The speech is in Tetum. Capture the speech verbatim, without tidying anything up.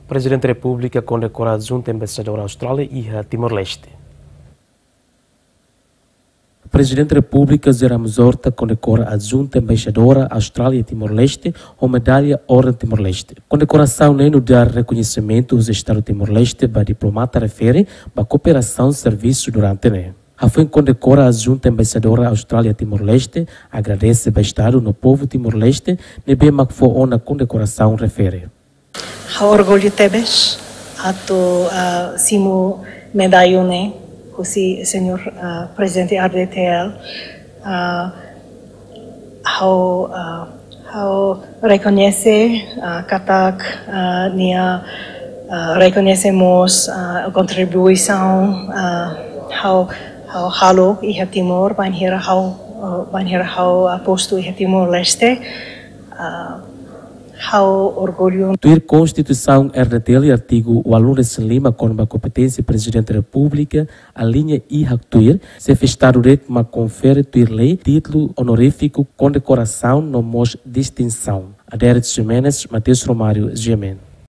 Prezidente Repúblika kondekora Adjunta Embaixadora Austrália iha Timor-Leste. Prezidente Repúblika José Ramos Horta kondekora Adjunta Embaixadora Austrália Timor-Leste ho medalla Orden Timor-Leste. Kondekorasaun ne'e nu'udar rekoñesimentu husi Estadu Timor-Leste ba diplomata refere ba kooperasaun servisu durante ne'e. Hafoin kondekora Adjunta Embaixadora Austrália Timor-Leste agradese ba Estadu no povu Timor-Leste ne'ebé mak fó ona kondekorasaun refere. Ha'u orgullu tebes atu, ah, simu medalla ne'e husi Señór, ah, Prezidente R D T L. Ah, ha'u, ah, ha'u rekoñese, ah, katak, ah, nia, ah, rekoñese mós, ah, kontribuisaun, ah, ha'u, ha'u halo iha Timor, bainhira ha'u, ah, bainhira ha'u, ah, postu iha Timor-Leste. Ah, ha'u orgullu. Tuir Konstituisaun R D T L, artigu ualunulu-resin-lima, kona-ba kompeténsia Prezidente Repúblika, aliña I haktuir, Xefe Estadu de'it mak konfere tuir lei títulu onorífiku kondekorasaun no mós distinsaun. Adérito Ximenes, Mateus Romário, G M N.